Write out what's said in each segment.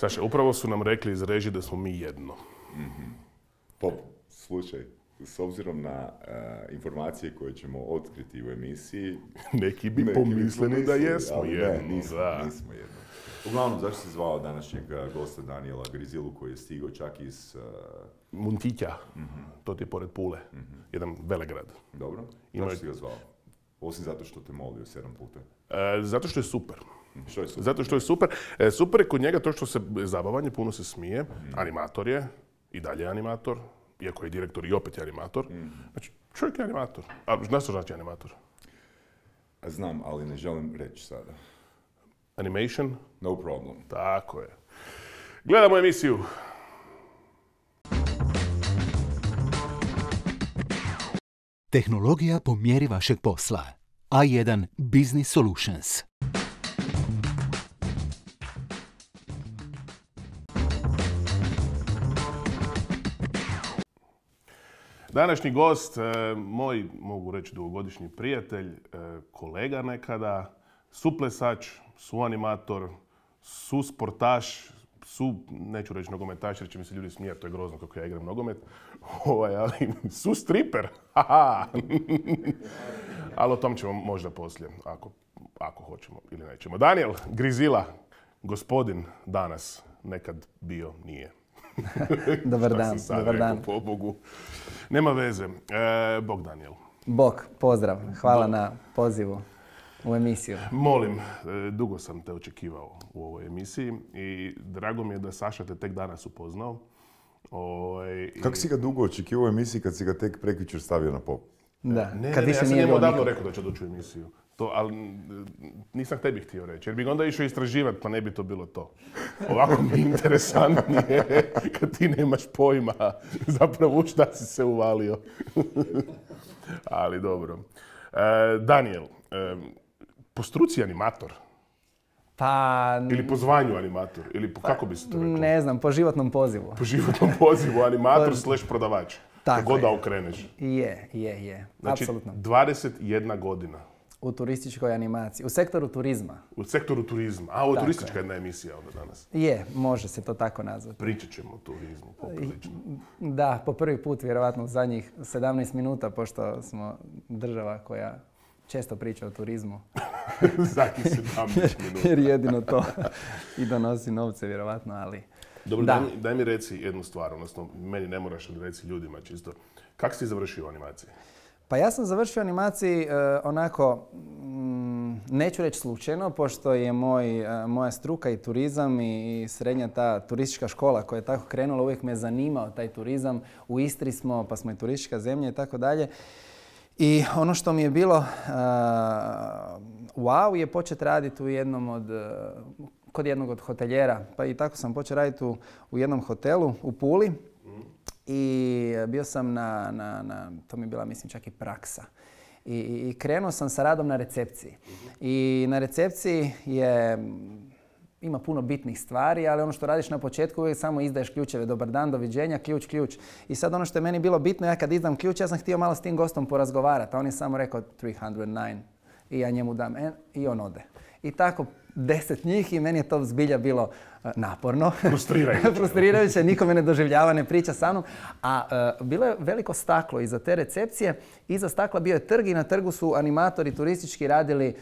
Saša, upravo su nam rekli iz režije da smo mi jedno. Top, slušaj, s obzirom na informacije koje ćemo otkriti u emisiji... Neki bi pomislili da jesmo jedno. Ne, nismo jedno. Uglavnom, zašto si zvao današnjeg gosta Daniela Grizilu koji je stigao čak iz... Muntića, to ti je pored Pule, jedan velegrad. Dobro, zašto si ga zvao? Osim zato što te molio 7 puta. Zato što je super. Što je super? Zato što je super. Super je kod njega to što se zabavanje, puno se smije. Animator je, i dalje je animator, iako je direktor i opet je animator. Znači, čovjek je animator. A znaš što znači animator? Znam, ali ne želim reći sada. Animation? No problem. Tako je. Gledamo emisiju. Tehnologija po mjeri vašeg posla. A1 Business Solutions. Današnji gost, moj, mogu reći, dugogodišnji prijatelj, kolega nekada, suplesač, suanimator, susportaš, neću reći nogometaš jer će mi se ljudi smijeti, to je grozno kako ja igram nogomet, ali sustriper, haha. Ali o tom ćemo možda poslije, ako hoćemo ili nećemo. Daniel Grizila, gospodin danas, nekad bio, nije. Dobar dan, dobar dan. Pobogu. Nema veze. Bog Daniel. Bog, pozdrav. Hvala na pozivu u emisiju. Molim, dugo sam te očekivao u ovoj emisiji i drago mi je da Saša te tek danas upoznao. Kako si ga dugo očekivao u emisiji kad si ga tek prekjučer stavio na pop? Da, ja sam njemu odavno rekao da će doći u emisiju. Ali nisam tebi htio reći, jer bi ga onda išao istraživati, pa ne bi to bilo to. Ovako mi je interesantnije kad ti nemaš pojma zapravo u šta si se uvalio. Ali dobro. Daniel, po struci animator? Pa... Ili po zvanju animator? Ili kako bi se to reklo? Ne znam, po životnom pozivu. Po životnom pozivu, animator / prodavač. Tako god je. da okreneš. Je. Znači, apsolutno. 21 godina. U turističkoj animaciji. U sektoru turizma. U sektoru turizma. A, ovo je turistička jedna emisija onda danas. Je, može se to tako nazvati. Pričat ćemo o turizmu poprilično. Da, po prvi put vjerovatno u zadnjih 17 minuta, pošto smo država koja često priča o turizmu. Zadnjih 17 minuta. Jer jedino to i donosi novce vjerovatno, ali... Dobro, daj mi reci jednu stvar, odnosno meni ne moraš, ali reci ljudima čisto. Kako si završio u animaciji? Pa ja sam završio animaciji onako, neću reći slučajno, pošto je moja struka i turizam i srednja ta turistička škola koja je tako krenula, uvijek me zanimao taj turizam. U Istri smo, pa smo i turistička zemlja i tako dalje. I ono što mi je bilo wow je početi raditi kod jednog od hoteljera. Pa i tako sam počeo raditi u jednom hotelu u Puli. I bio sam to mi je bila mislim čak i praksa. I krenuo sam sa radom na recepciji. I na recepciji ima puno bitnih stvari, ali ono što radiš na početku uvijek samo izdaješ ključeve. Dobar dan, doviđenja, ključ. I sad ono što je meni bilo bitno, ja kad izdam ključ, ja sam htio malo s tim gostom porazgovarati. A on je samo rekao 309 i ja njemu dam i on ode. I tako 10 njih i meni je to zbilja bilo naporno. Frustrirajuće, niko me ne doživljava, ne priča sa mnom. A bilo je veliko staklo iza te recepcije. Iza stakla bio je trg i na trgu su animatori turistički radili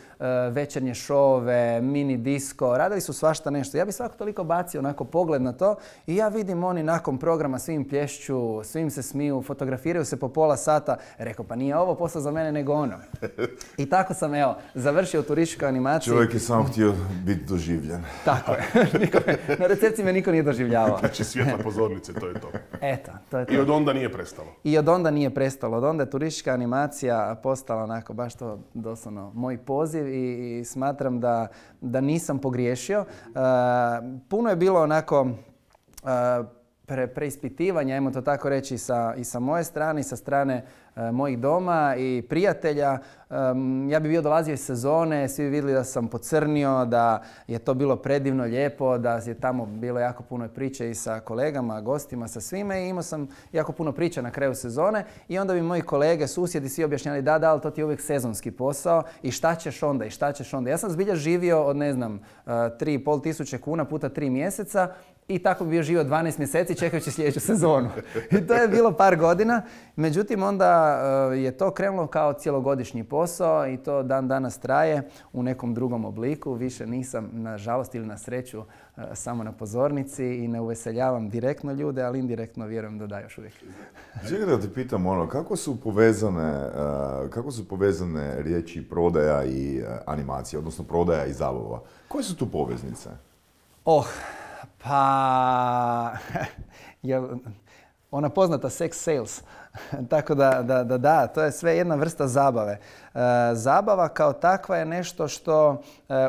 večernje šove, mini disko, radili su svašta nešto. Ja bi svako toliko bacio onako pogled na to i ja vidim oni nakon programa svim plješću, svim se smiju, fotografiraju se po pola sata. Rekao, pa nije ovo posao za mene nego ono. I tako sam završio turističku animaciju. Čovjek je samo htio biti doživljen. Tako je. Na recepciji me niko nije doživljavao. Znači svjetla pozornice, to je to. Eto, to je to. I od onda nije prestalo. Od onda je turistička animacija postala onako baš to doslovno moj poziv i smatram da nisam pogriješio. Puno je bilo onako preispitivanja, ajmo to tako reći, i sa moje strane i sa strane mojih doma i prijatelja. Ja bi bio dolazio iz sezone, svi bi vidjeli da sam pocrnio, da je to bilo predivno, lijepo, da je tamo bilo jako puno priče i sa kolegama, gostima, sa svime i imao sam jako puno priča na kraju sezone i onda bi moji kolege, susjedi svi objašnjali da, ali to ti je uvijek sezonski posao i šta ćeš onda i šta ćeš onda. Ja sam zbilja živio od 3,5 tisuće kuna puta 3 mjeseca i tako bi bio živio 12 mjeseci čekajući sljedeću sezonu. I to je bilo par godina. Međutim, onda je to krenulo kao cjelogodišnji posao i to dan danas traje u nekom drugom obliku. Više nisam, nažalost ili na sreću, samo na pozornici i ne uveseljavam direktno ljude, ali indirektno vjerujem da još uvijek. Čekaj da te pitam kako su povezane riječi prodaja i animacija, odnosno prodaja i zabava? Koje su tu poveznice? Pa, ona poznata sex sales. Tako da, to je sve jedna vrsta zabave. Zabava kao takva je nešto što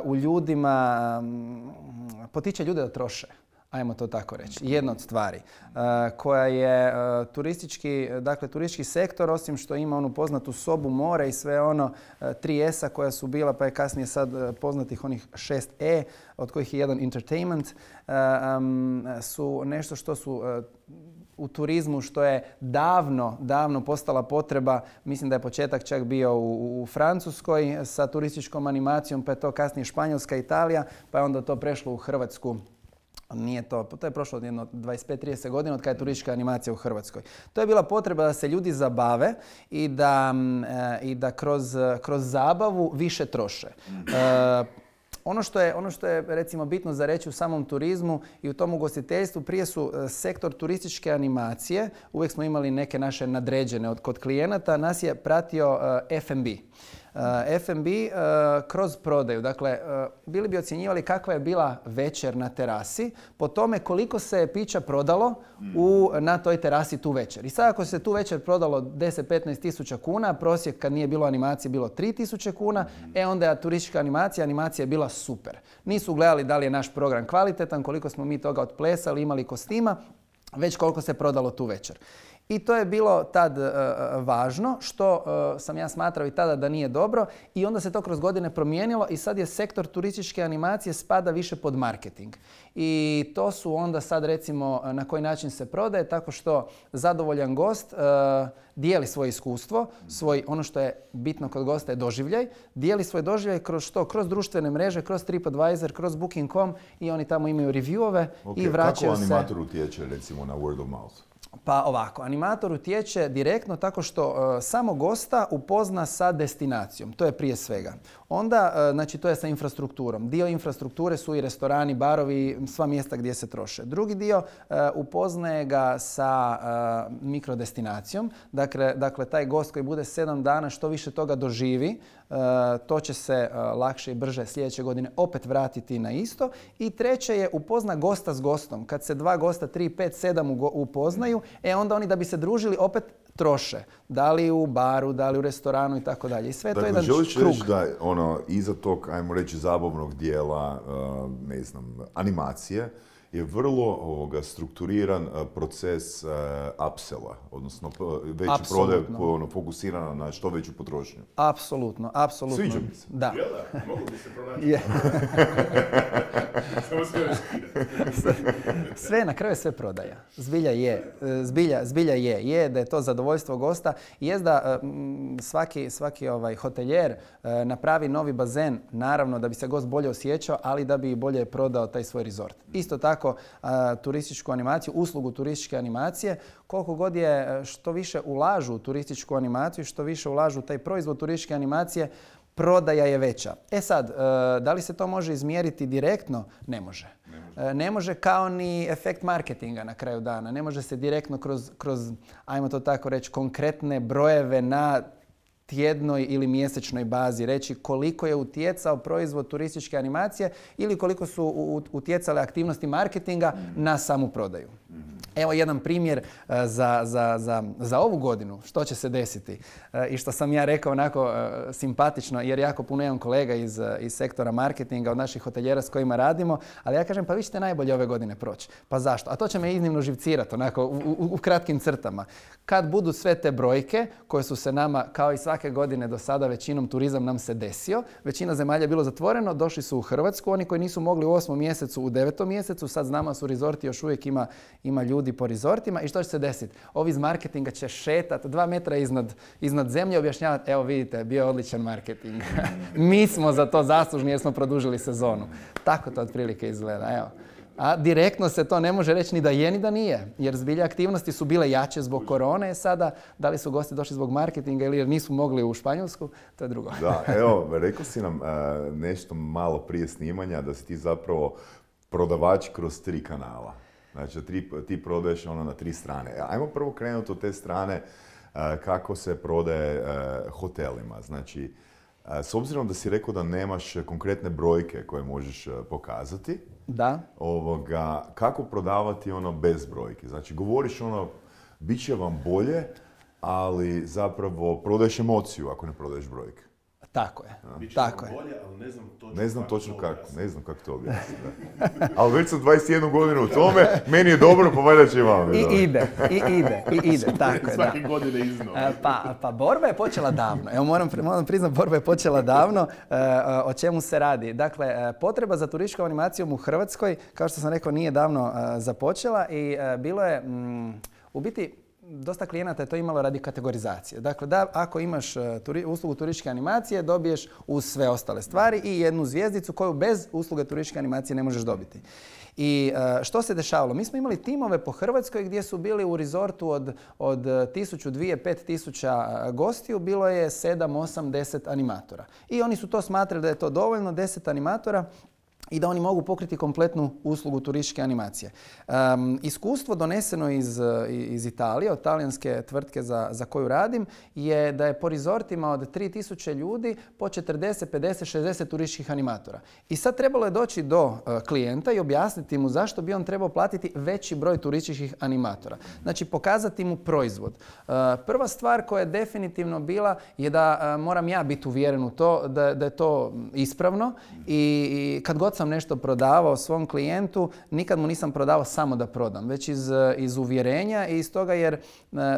u ljudima potiče ljude da troše. Ajmo to tako reći. Jedna od stvari koja je turistički sektor, osim što ima onu poznatu sobu, more i sve ono 3S-a koja su bila, pa je kasnije sad poznatih onih 6E, od kojih je jedan entertainment, su nešto što su u turizmu što je davno postala potreba. Mislim da je početak čak bio u Francuskoj sa turističkom animacijom, pa je to kasnije Španjolska, Italija, pa je onda to prešlo u Hrvatsku. Nije to je prošlo jedno 25-30 godina od kada je turistička animacija u Hrvatskoj. To je bila potreba da se ljudi zabave i da kroz zabavu više troše. Ono što je recimo bitno za reći u samom turizmu i u tom ugostiteljstvu, prije su sektor turističke animacije, uvijek smo imali neke naše nadređene kod klijenata, nas je pratio F&B. F&B kroz prodaju. Dakle, bili bi ocjenjivali kakva je bila večer na terasi po tome koliko se pića prodalo na toj terasi tu večer. I sad ako se tu večer prodalo 10-15 tisuća kuna, prosjek kad nije bilo animacije bilo 3 tisuće kuna, onda je turistička animacija je bila super. Nisu gledali da li je naš program kvalitetan, koliko smo mi toga otplesali, imali kostima, već koliko se prodalo tu večer. I to je bilo tad važno, što sam ja smatrao i tada da nije dobro i onda se to kroz godine promijenilo i sad je sektor turističke animacije spada više pod marketing. I to su onda sad recimo na koji način se prodaje, tako što zadovoljan gost dijeli svoje iskustvo, ono što je bitno kod gosta je doživljaj, dijeli svoj doživljaj kroz što? Kroz društvene mreže, kroz TripAdvisor, kroz Booking.com i oni tamo imaju reviewove i vraćaju se. Kako animator utječe recimo na word of mouth? Pa ovako, animator utječe direktno tako što samo gosta upozna sa destinacijom. To je prije svega. Onda, znači to je sa infrastrukturom. Dio infrastrukture su i restorani, barovi, sva mjesta gdje se troše. Drugi dio upoznaje ga sa mikrodestinacijom. Dakle, taj gost koji bude 7 dana što više toga doživi, to će se lakše i brže sljedeće godine opet vratiti na isto. I treće je upozna gosta s gostom. Kad se 2 gosta, 3, 5, 7 upoznaju, onda oni da bi se družili opet troše. Da li u baru, da li u restoranu i tako dalje. I sve to je jedan krug. Želiš reći da iza tog, ajmo reći, zabavnog dijela, animacije, je vrlo strukturiran proces upsella, odnosno veći prodaj fokusirana na što veću potrošnju. Apsolutno. Sviđa mi se. Da. Mogu bi se pronaći. Sve, na kraju je sve prodaja. Zbilja je. Je da je to zadovoljstvo gosta. Jest da svaki hoteljer napravi novi bazen, naravno da bi se gost bolje osjećao, ali da bi bolje prodao taj svoj resort. Isto tako turističku animaciju, uslugu turističke animacije, koliko god je što više ulažu u turističku animaciju, što više ulažu u taj proizvod turističke animacije, prodaja je veća. Sad, da li se to može izmjeriti direktno? Ne može. Ne može kao ni efekt marketinga na kraju dana. Ne može se direktno kroz ajmo to tako reći, konkretne brojeve na tjednoj ili mjesečnoj bazi reći koliko je utjecao proizvod turističke animacije ili koliko su utjecale aktivnosti marketinga na samu prodaju. Evo jedan primjer za ovu godinu, što će se desiti i što sam ja rekao onako simpatično, jer jako puno imam kolega iz sektora marketinga, od naših hotelijera s kojima radimo, ali ja kažem pa vi ćete najbolje ove godine proći. Pa zašto? A to će me iznimno živcirati onako u kratkim crtama. Kad budu sve te brojke koje su se nama, kao i svake godine do sada, većinom turizam nam se desio, većina zemalja je bilo zatvoreno, došli su u Hrvatsku, oni koji nisu mogli u 8. mjesecu, u 9. mjesecu, sad znamo su rezorti, još uvijek ima ljudi po rezortima i što će se desiti? Ovi iz marketinga će šetati 2 metra iznad zemlje i objašnjavati, evo vidite, bio je odličan marketing. Mi smo za to zaslužni jer smo produžili sezonu. Tako to otprilike izgleda, evo. A direktno se to ne može reći ni da je ni da nije, jer zbilja aktivnosti su bile jače zbog korone. Sada, da li su gosti došli zbog marketinga ili jer nisu mogli u Španjolsku, to je drugo. Da, evo, rekao si nam nešto malo prije snimanja da si ti zapravo prodavač kroz 3 kanala. Znači, ti prodaješ na 3 strane. Ajmo prvo krenuti od te strane kako se prodaje hotelima. Znači, s obzirom da si rekao da nemaš konkretne brojke koje možeš pokazati, da. Kako prodavati bez brojki? Znači, govoriš bit će vam bolje, ali zapravo prodaješ emociju ako ne prodaješ brojke. Tako je. Tako je. Bolje, ali ne znam točno kako to objasniti. Ali već sam 21 godinu u tome, meni je dobro, pa valjda će vam. I ide. Tako je, svake godine iznova. Pa borba je počela davno. Evo moram priznati, borba je počela davno. O čemu se radi? Dakle, potreba za turističkom animacijom u Hrvatskoj, kao što sam rekao, nije davno započela i bilo je u biti dosta klijenata je to imalo radi kategorizacije. Dakle, da ako imaš uslugu turističke animacije, dobiješ uz sve ostale stvari i jednu zvjezdicu koju bez usluge turističke animacije ne možeš dobiti. I što se dešavalo? Mi smo imali timove po Hrvatskoj gdje su bili u rezortu od 1000, 2000, 5000 gostiju, bilo je 7, 8, 10 animatora. I oni su to smatrali da je to dovoljno, 10 animatora, i da oni mogu pokriti kompletnu uslugu turističke animacije. Iskustvo doneseno iz Italije, od talijanske tvrtke za koju radim, je da je po rezortima od 3000 ljudi po 40, 50, 60 turističkih animatora. I sad trebalo je doći do klijenta i objasniti mu zašto bi on trebao platiti veći broj turističkih animatora. Znači, pokazati mu proizvod. Prva stvar koja je definitivno bila je da moram ja biti uvjeren u to da je to ispravno i kad god sam nešto prodavao svom klijentu, nikad mu nisam prodavao samo da prodam, već iz uvjerenja i iz toga jer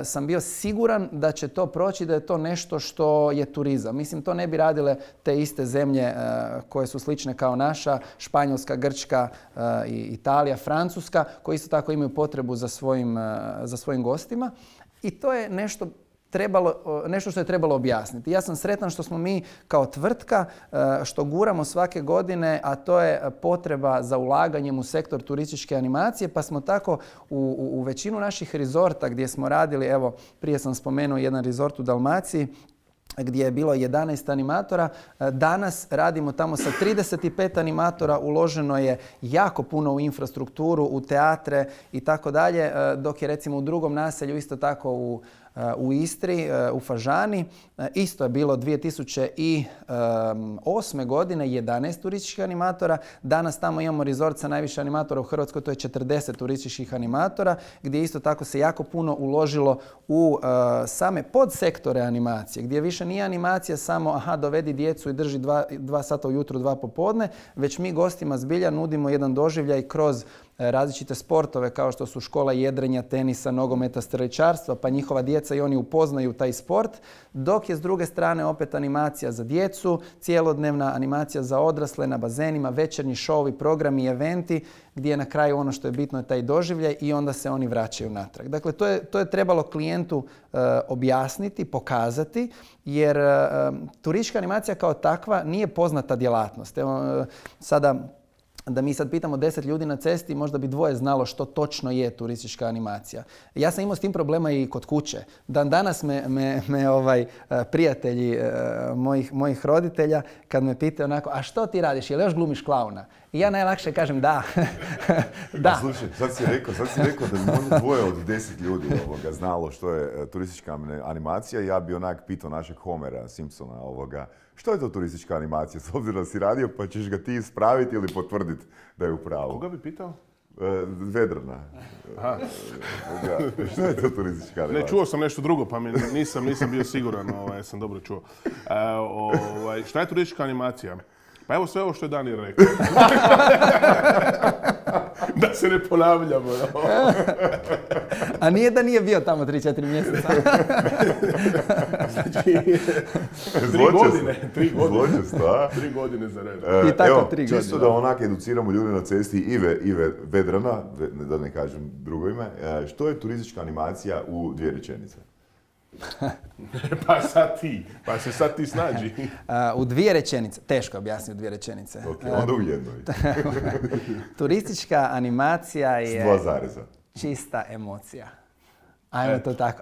sam bio siguran da će to proći, da je to nešto što je turizam. Mislim, to ne bi radile te iste zemlje koje su slične kao naša, Španjolska, Grčka, Italija, Francuska, koji isto tako imaju potrebu za svojim gostima. I to je nešto što je trebalo objasniti. Ja sam sretan što smo mi kao tvrtka, što guramo svake godine, a to je potreba za ulaganjem u sektor turističke animacije, pa smo tako u većinu naših rezorta gdje smo radili, evo prije sam spomenuo jedan rezort u Dalmaciji, gdje je bilo 11 animatora. Danas radimo tamo sa 35 animatora, uloženo je jako puno u infrastrukturu, u teatre i tako dalje, dok je recimo u drugom naselju isto tako u Istri, u Fažani. Isto je bilo 2008. godine 11 turističkih animatora. Danas tamo imamo rezort sa najviše animatora u Hrvatskoj, to je 40 turističkih animatora, gdje isto tako se jako puno uložilo u same podsektore animacije, gdje više nije animacija samo dovedi djecu i drži 2 sata ujutro, 2 popodne, već mi gostima zbilja nudimo jedan doživljaj kroz različite sportove kao što su škola jedrenja, tenisa, nogometa, streličarstva, pa njihova djeca i oni upoznaju taj sport, dok je s druge strane opet animacija za djecu, cijelodnevna animacija za odrasle na bazenima, večernji šovi, programi, eventi, gdje je na kraju ono što je bitno je taj doživljaj i onda se oni vraćaju natrag. Dakle, to je trebalo klijentu objasniti, pokazati, jer turistička animacija kao takva nije poznata djelatnost. Evo, da mi sad pitamo 10 ljudi na cesti, možda bi 2 znalo što točno je turistička animacija. Ja sam imao s tim problema i kod kuće. Dan danas me prijatelji mojih roditelja, kad me pitaju onako, a što ti radiš, je li još glumiš klauna? I ja najlakše kažem da. Da. Slušaj, sad si rekao da bi možda 2 od 10 ljudi znalo što je turistička animacija. Ja bi onak pitao našeg Homera Simpsona što je to turistička animacija? S obzirom da si radio, pa ćeš ga ti ispraviti ili potvrditi da je u pravu. Koga bi pitao? Vedrana. Što je to turistička animacija? Ne, čuo sam nešto drugo, pa nisam bio siguran, sam dobro čuo. Šta je turistička animacija? Pa evo sve ovo što je Danir rekao. Da se ne ponavljamo. A nije da nije bio tamo 3-4 mjeseca. Znači, 3 godine. 3 godine za red. I tako evo, 3 godine. Čisto da onak educiramo ljude na cesti Ive Vedrana, da ne kažem drugo ime, što je turistička animacija u 2 rečenice? Pa se sad ti snađi. U 2 rečenice, teško objasniti u 2 rečenice. Ok, onda u jednoj. Turistička animacija je... S 2 zareza. Čista emocija.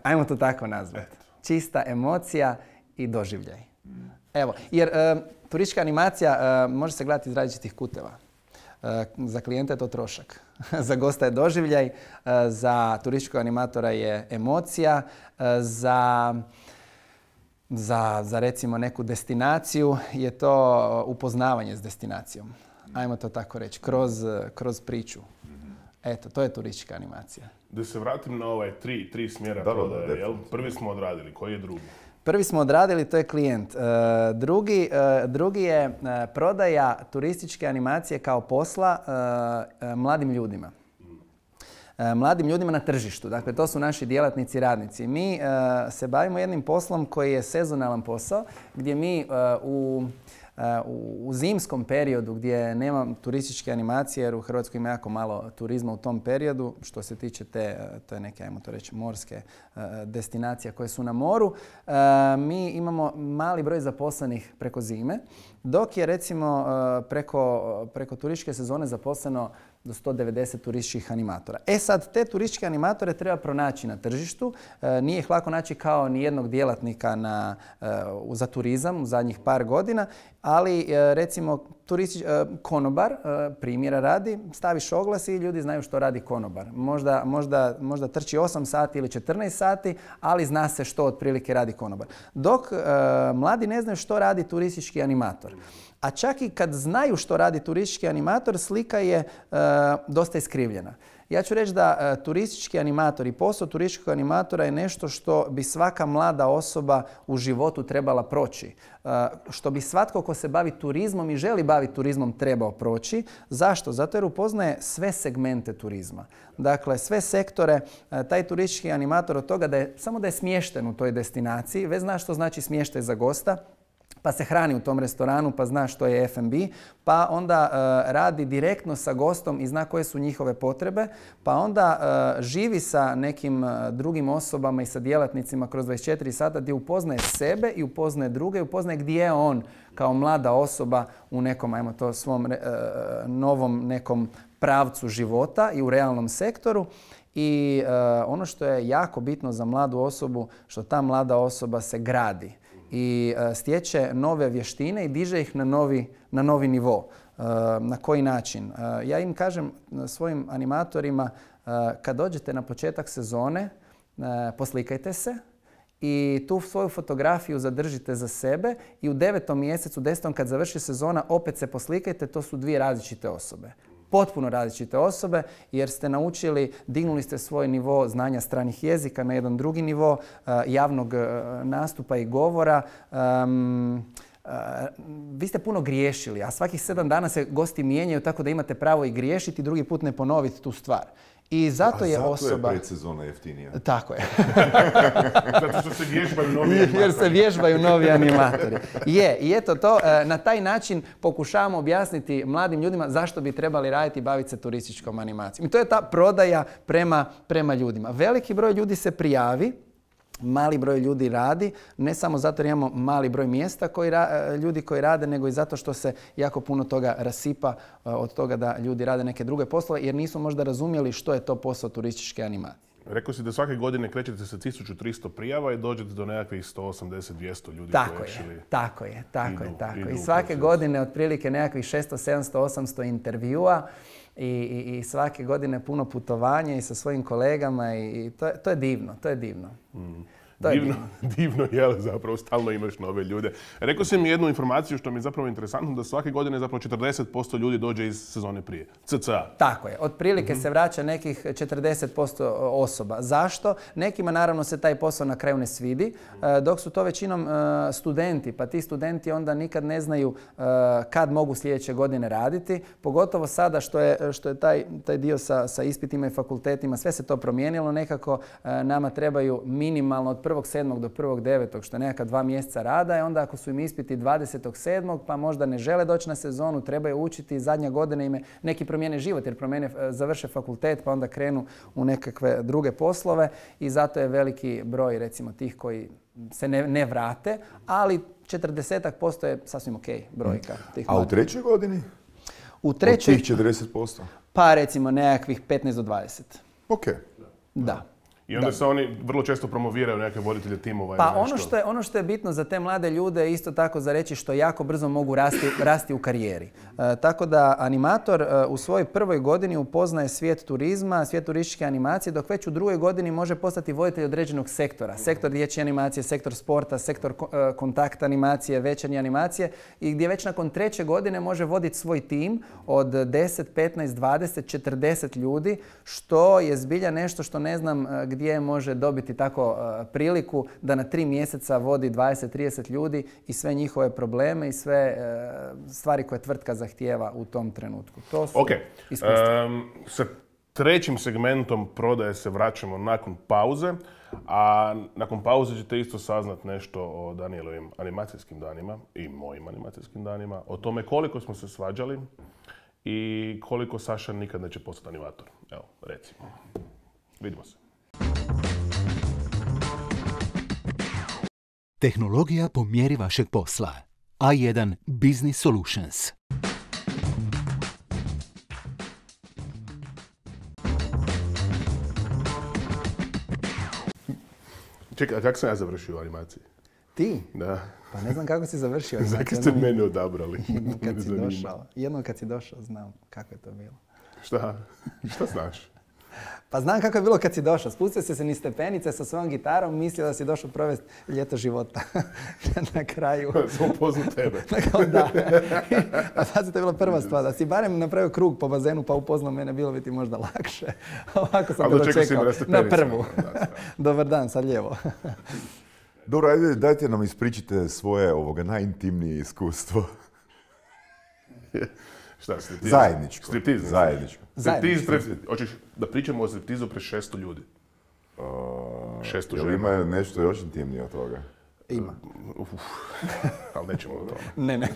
Ajmo to tako nazvati. Čista emocija i doživljaj. Evo, jer turistička animacija može se gledati iz različitih kuteva. Za klijenta je to trošak. Za gosta je doživljaj, za turističkog animatora je emocija, za recimo neku destinaciju je to upoznavanje s destinacijom. Ajmo to tako reći, kroz priču. Eto, to je turistička animacija. Da se vratim na ovaj 3 smjera prodaje, jel? Prvi smo odradili, koji je drugi? Prvi smo odradili, to je klijent. Drugi je prodaja turističke animacije kao posla mladim ljudima. Mladim ljudima na tržištu. Dakle, to su naši djelatnici i radnici. Mi se bavimo jednim poslom koji je sezonalan posao, gdje mi u zimskom periodu gdje nema turističke animacije, jer u Hrvatskoj ima jako malo turizma u tom periodu, što se tiče to je neke, ajmo to reći, morske destinacije koje su na moru, mi imamo mali broj zaposlenih preko zime, dok je recimo preko turističke sezone zaposleno do 190 turističkih animatora. Sad, te turističke animatore treba pronaći na tržištu. Nije ih lako naći kao ni jednog djelatnika za turizam u zadnjih par godina, ali recimo konobar, primjera radi, staviš oglas i ljudi znaju što radi konobar. Možda trči 8 sati ili 14 sati, ali zna se što otprilike radi konobar. Dok mladi ne znaju što radi turistički animator. A čak i kad znaju što radi turistički animator, slika je dosta iskrivljena. Ja ću reći da turistički animator i posao turističkog animatora je nešto što bi svaka mlada osoba u životu trebala proći. Što bi svatko ko se bavi turizmom i želi baviti turizmom trebao proći. Zašto? Zato jer upoznaje sve segmente turizma. Dakle, sve sektore, taj turistički animator od toga samo da je smješten u toj destinaciji, već zna što znači smještaj za gosta, pa se hrani u tom restoranu, pa zna što je F&B, pa onda radi direktno sa gostom i zna koje su njihove potrebe, pa onda živi sa nekim drugim osobama i sa djelatnicima kroz 24 sata gdje upoznaje sebe i upoznaje druge i upoznaje gdje je on kao mlada osoba u nekom, ajmo to, svom novom nekom pravcu života i u realnom sektoru. I ono što je jako bitno za mladu osobu, što ta mlada osoba se gradi i stječe nove vještine i diže ih na novi nivo. Na koji način? Ja im kažem svojim animatorima, kad dođete na početak sezone, poslikajte se i tu svoju fotografiju zadržite za sebe i u 9. mjesecu, 10. kad završi sezona, opet se poslikajte, to su 2 različite osobe. Potpuno različite osobe jer ste naučili, dignuli ste svoj nivo znanja stranih jezika na jedan drugi nivo, javnog nastupa i govora. Vi ste puno griješili, a svakih 7 dana se gosti mijenjaju tako da imate pravo i griješiti i drugi put ne ponoviti tu stvar. I zato je osoba... Zato je predsezona jeftinija. Tako je. Zato što se vježbaju novi animatori. Jer se vježbaju novi animatori. I eto to, na taj način pokušavamo objasniti mladim ljudima zašto bi trebali raditi i baviti se turističkom animacijom. I to je ta prodaja prema ljudima. Veliki broj ljudi se prijavi, mali broj ljudi radi, ne samo zato jer imamo mali broj mjesta ljudi koji rade, nego i zato što se jako puno toga rasipa od toga da ljudi rade neke druge poslove, jer nisu možda razumjeli što je to posao turističke animacije. Rekao si da svake godine krećete sa 1300 prijava i dođete do nekakvih 180-200 ljudi koji actually Tako je. I svake godine otprilike nekakvih 600, 700, 800 intervjua i svake godine puno putovanja i sa svojim kolegama i to je divno. Divno je, zapravo stalno imaš nove ljude. Rekao sam mi jednu informaciju što mi je zapravo interesantno, da svake godine zapravo 40% ljudi dođe iz sezone prije. CCA. Tako je. Otprilike se vraća nekih 40% osoba. Zašto? Nekima naravno se taj posao na kraju ne svidi, dok su to većinom studenti, pa ti studenti onda nikad ne znaju kad mogu sljedeće godine raditi. Pogotovo sada što je taj dio sa ispitima i fakultetima, sve se to promijenilo nekako. Nama trebaju minimalno od 1.7. do 1.9. što je nekakva 2 mjeseca rada i onda ako su im ispiti 20.7. pa možda ne žele doći na sezonu, trebaju učiti, zadnja godina im je neki promijene život jer završe fakultet pa onda krenu u nekakve druge poslove i zato je veliki broj recimo tih koji se ne vrate, ali 40% je sasvim ok brojka. A u trećoj godini? U trećoj... Od tih 40%? Pa recimo nekakvih 15 do 20. Ok. Da. I onda se oni vrlo često promoviraju neke voditelje timova. Pa ono što je bitno za te mlade ljude je isto tako za reći što jako brzo mogu rasti u karijeri. Tako da animator u svojoj prvoj godini upoznaje svijet turizma, svijet turističke animacije, dok već u drugoj godini može postati voditelj određenog sektora. Sektor dječje animacije, sektor sporta, sektor kontakt animacije, večernje animacije i gdje već nakon treće godine može voditi svoj tim od 10, 15, 20, 40 ljudi, što je zbilja nešto što ne znam gdje može dobiti tako priliku da na 3 mjeseca vodi 20-30 ljudi i sve njihove probleme i sve stvari koje tvrtka zahtijeva u tom trenutku. To su iskustva. Sa trećim segmentom prodaje se vraćamo nakon pauze, a nakon pauze ćete isto saznat nešto o Danijelovim animacijskim danima i mojim animacijskim danima, o tome koliko smo se svađali i koliko Saša nikad neće postati animator. Evo, recimo. Vidimo se. Tehnologija po mjeri vašeg posla. A1 Business Solutions. Čekaj, a kako sam ja završio u animaciji? Ti? Da. Pa ne znam kako si završio. Zakaj ste mene odabrali? Jednom kad si došao, znam kako je to bilo. Šta? Šta znaš? Pa znam kako je bilo kad si došao. Spustio si se niz stepenice sa svojom gitarom, mislio da si došao provesti ljeto života. Na kraju... Sam upoznao tebe. Da. A sad si to bila prva stvar. Da si barem napravio krug po bazenu pa upoznao mene, bilo bi ti možda lakše. Ovako sam te dočekao na prvu. Dobar dan, sad lijevo. Dobro, ajde, dajte nam ispričite svoje najintimnije iskustvo. Šta, striptiz? Zajedničko. Striptiz? Zajedničko. Hoćeš da pričamo o striptizu pre 600 ljudi? 600 žena. Jel ima nešto još intimnije od toga? Ima. Ali nećemo o tome. Ne,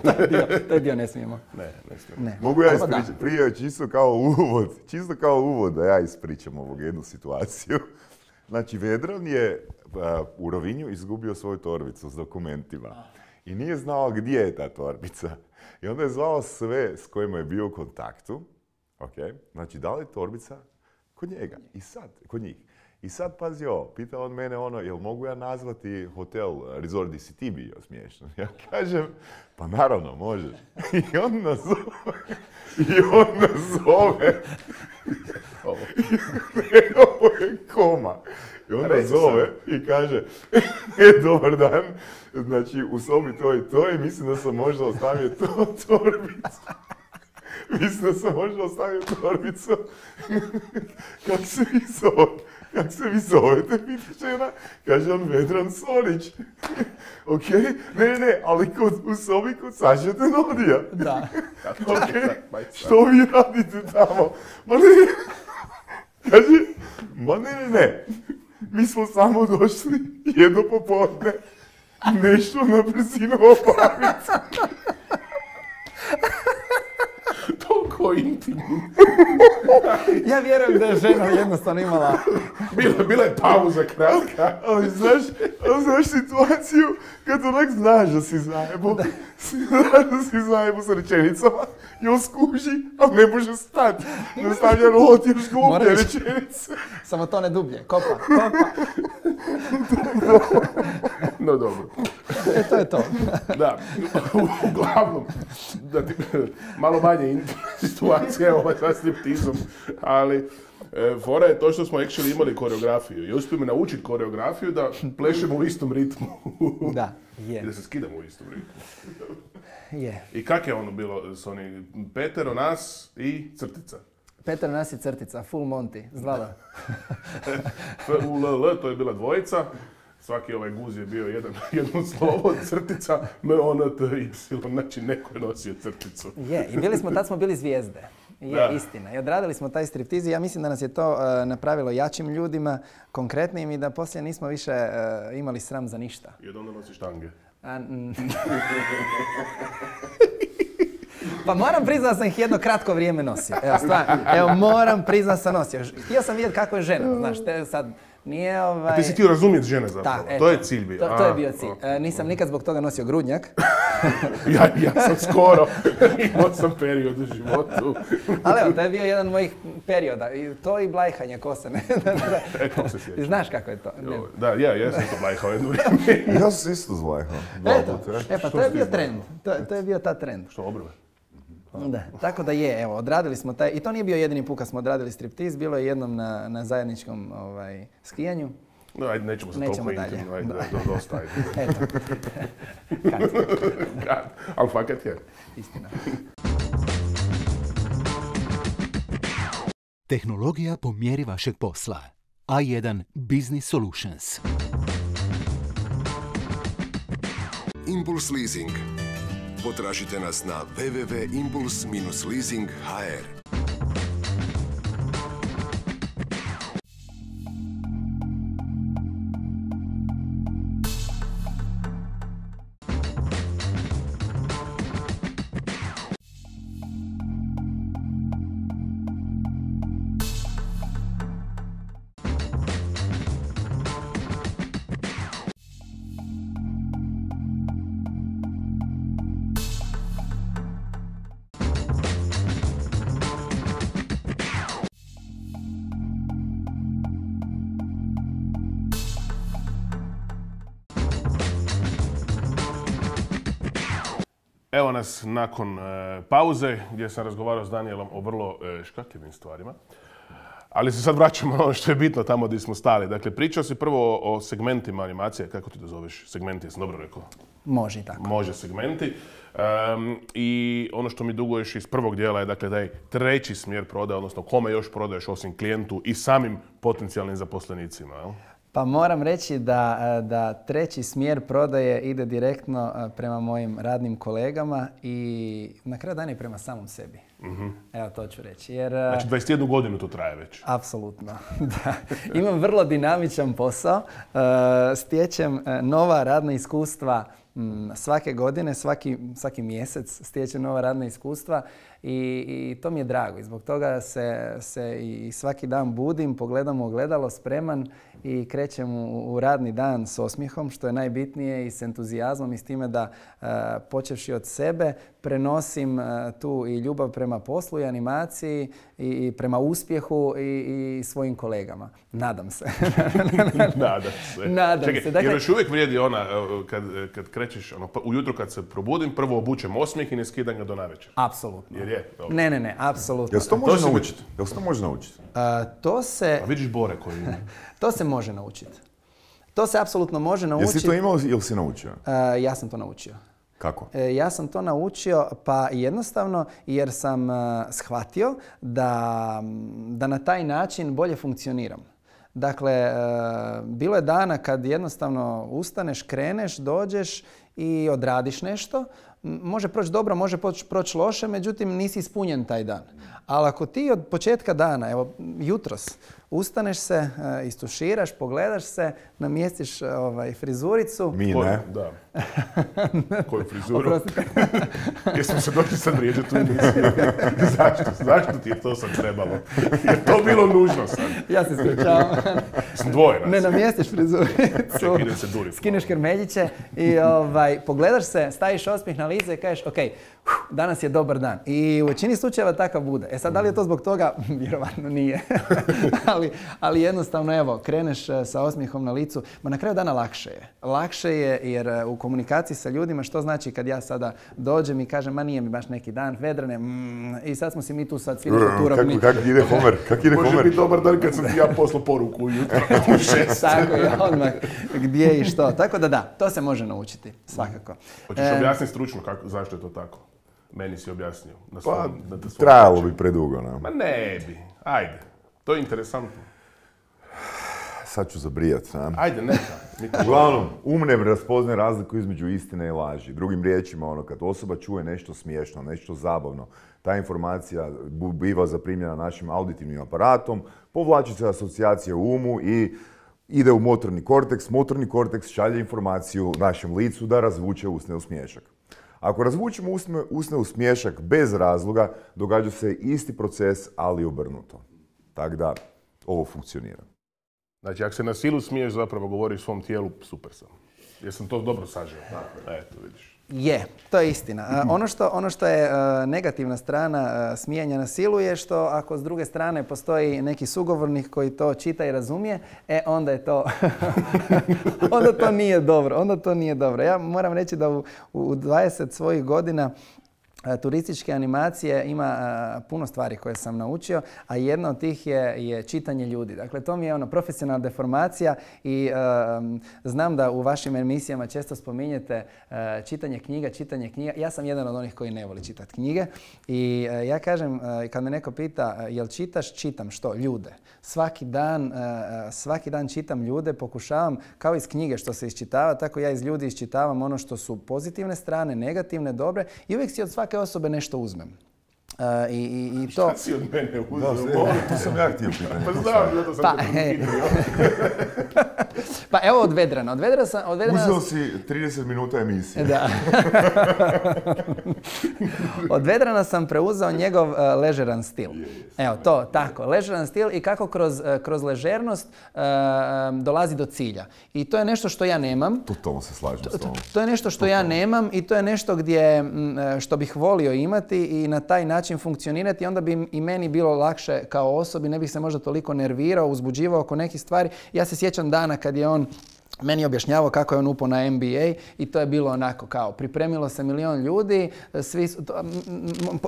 taj dio ne smijemo. Ne smijemo. Mogu ja ispričati prije, čisto kao uvod da ja ispričam ovu jednu situaciju. Znači, Vedran je u Rovinju izgubio svoju torbicu s dokumentima i nije znao gdje je ta torbica. I onda je zvao sve s kojima je bio u kontaktu. Okay. Znači, da li je torbica kod njega? Kod njih. I sad, pazi ovo, pita on mene jel mogu ja nazvati hotel Resort gdje si ti bio smiješno? Ja kažem, pa naravno, možeš. I on nas zove. Ovo je koma. I on nas zove i kaže, dobar dan, znači u sobi to i to i mislim da sam možda ostavio torbicu. Kako se vi zovete, pita žena? Kaže on, Vedran Sonić. Ok, ne, ali u sobi kod Saše Tenodija. Da. Ok, što vi radite tamo? Ma ne, kaže, ne. Mi smo samo došli jedno popodne, nešto na brzinu obaviti. Toliko intimno. Ja vjerujem da je žena jednostavno imala... Bila je pauza kratka. Ali znaš situaciju kad onak znaš da si zajebu. Znaš da si zajebu sa rečenicama i on skuži, ali ne može stati. Nastavlja roti još gluplje rečenice. Samo to ne dublje. Kopa. No dobro. To je to. Da, uglavnom, malo manje situacija je sa striptizom, ali Fora je to što smo actually imali koreografiju i uspio me naučiti koreografiju da plešemo u istom ritmu. Da, je. I da se skidamo u istom ritmu. Je. I kak je ono bilo s onim Petero, nas i crtica? Petero, nas i crtica, full Monty, zvala. FULL, to je bila dvojica. Svaki ovaj guz je bio jedno slovo, crtica, MONTY, znači neko je nosio crticu. Je, i tad smo bili zvijezde. Je, istina. I odradili smo taj striptiz i ja mislim da nas je to napravilo jačim ljudima, konkretnim i da poslije nismo više imali sram za ništa. I od onda nosi štange. Pa moram priznat da sam ih jedno kratko vrijeme nosio. Evo, stvarno. Evo, moram priznat da sam nosio. Htio sam vidjeti kako je žena, znaš, te sad nije A ti si htio razumjeti žene zapravo, to je cilj bio. To je bio cilj. Nisam nikad zbog toga nosio grudnjak. ja sam skoro, imao sam period u životu. Ali evo, to je bio jedan od mojih perioda. I to i blajhanje kose. To se sjeća. Znaš kako je to? Da, ja sam to blajhao jedno vrijeme. Ja sam isto zlajhao. Pa to je bio trend. To je bio ta trend. Što, obrve? Da, tako da je, evo, odradili smo taj, i to nije bio jedini put kad smo odradili striptiz, bilo je jednom na zajedničkom skijanju. No, ajde, nećemo se toliko intimno, ajde, dosta, ajde. Eto. Kad? Ali fakat je. Istina. Tehnologija po mjeri vašeg posla. A1 Business Solutions. Impuls Leasing. Potražite nas na www.impuls-leasing.hr. Evo nas nakon pauze gdje sam razgovarao s Danielom o vrlo škakljivim stvarima. Ali se sad vraćamo na ono što je bitno tamo gdje smo stali. Dakle, pričao si prvo o segmentima animacije. Kako ti to zoveš? Segmenti, jesam dobro rekao? Može i tako. Može segmenti. I ono što mi duguješ iz prvog dijela je dakle, da je treći smjer prodaje, odnosno kome još prodaješ osim klijentu i samim potencijalnim zaposlenicima, jel? Pa moram reći da treći smjer prodaje ide direktno prema mojim radnim kolegama i na kraju dana i prema samom sebi. Evo to ću reći. Jer, znači 21 godinu to traje već. Apsolutno, da. Imam vrlo dinamičan posao, stječem nova radna iskustva svake godine, svaki mjesec stječem nova radna iskustva i to mi je drago. I zbog toga se i svaki dan budim, pogledam u ogledalo spreman i krećem u radni dan s osmijehom, što je najbitnije, i s entuzijazmom i s time da počevši od sebe prenosim tu i ljubav prema poslu i animaciji i prema uspjehu i svojim kolegama. Nadam se. Nadam se. Dakle, jer još uvijek vrijedi ona kad krećeš, ujutro kad se probudim, prvo obučem osmijeh i ne skidam ga do navečer. Apsolutno. Jer je? Ne, apsolutno. Jel se to može naučiti? Jel se to može naučiti? To se... A vidiš Bore koji ima. To se može naučiti. To se apsolutno može naučiti. Jesi to imao ili si naučio? Ja sam to naučio. Kako? Ja sam to naučio pa jednostavno jer sam shvatio da na taj način bolje funkcioniram. Dakle, bilo je dana kad jednostavno ustaneš, kreneš, dođeš i odradiš nešto. Može proći dobro, može proći loše, međutim nisi ispunjen taj dan. Ali ako ti od početka dana, evo jutros, ustaneš se, istuširaš, pogledaš se, namjestiš frizuricu. Mi ne. Da. Koju frizuru? Jesmo se došli sad vrijeđati u emisiju. Zašto ti je to sad trebalo? Je to bilo nužno sad? Ja se ispričavam. Sam dvoje nas. Ne namjestiš frizuricu. Ček, idem se duriti. Skineš krmeljiće i pogledaš se, staviš osmijeh na lice i kažeš ok, danas je dobar dan. I u većini slučajeva takav bude. E sad, da li je to zbog toga? Vjerovatno nije. ali jednostavno, evo, kreneš sa osmijehom na licu. Ma na kraju dana lakše je. Lakše je jer u komunikaciji sa ljudima, što znači kad ja sada dođem i kažem, ma nije mi baš neki dan, Vedrane, i sad smo si mi tu sad svi turobni. Kako ide Homer? Može biti dobar dan kad sam ti ja poslao poruku ujutro u 6. Tako je, odmah gdje i što. Tako da, to se može naučiti, svakako. Hoćeš objasniti stručno zašto je to tako? Meni si objasnio. Trajalo bi predugo, ne? Ma ne bi. Ajde. To je interesantno. Sad ću zabrijat, ne? Ajde, neka. Uglavnom, ne razpoznaje razliku između istine i laži. Drugim riječima, kad osoba čuje nešto smiješno, nešto zabavno, ta informacija biva zaprimljena našim auditivnim aparatom, povlači se asocijacije u umu i ide u motorni korteks. Motorni korteks šalje informaciju našem licu da razvuče usne u smiješak. Ako razvučemo usne u smiješak bez razloga, događa se isti proces, ali obrnuto. Tako da, ovo funkcionira. Znači, ako se na silu smiješ, zapravo govoriš svom tijelu, super sam. Jesam to dobro sažeo? Eto, vidiš. Je, to je istina. Ono što je negativna strana smijanja na silu je što ako s druge strane postoji neki sugovornik koji to čita i razumije, onda je to onda to nije dobro. Ja moram reći da u 20 svojih godina turističke animacije ima puno stvari koje sam naučio, a jedna od tih je čitanje ljudi. Dakle, to mi je profesionalna deformacija i znam da u vašim emisijama često spominjete čitanje knjiga. Ja sam jedan od onih koji ne voli čitati knjige i ja kažem, kad me neko pita jel čitaš, čitam što? Ljude. Svaki dan čitam ljude, pokušavam, kao iz knjige što se iščitava, tako ja iz ljudi iščitavam ono što su pozitivne strane, negativne, dobre i uvijek si od svake osobe nešto uzmem. I to... Šta si od mene uzeo? To sam ja htio pitanje. Pa znam, zato sam te pitao. Pa evo od Vedrana. Uzeo si 30 minuta emisije. Da. Od Vedrana sam preuzeo njegov ležeran stil. Evo to, tako. Ležeran stil i kako kroz ležernost dolazi do cilja. I to je nešto što ja nemam. Totalno se slažem s tom. To je nešto što ja nemam i to je nešto što bih volio imati i na taj način funkcionirati. Onda bi i meni bilo lakše kao osobi, ne bih se možda toliko nervirao, uzbuđivao oko nekih stvari. Ja se sjećam dana kad je on meni objašnjavao kako je on upao na MBA i to je bilo onako kao pripremilo se 1.000.000 ljudi,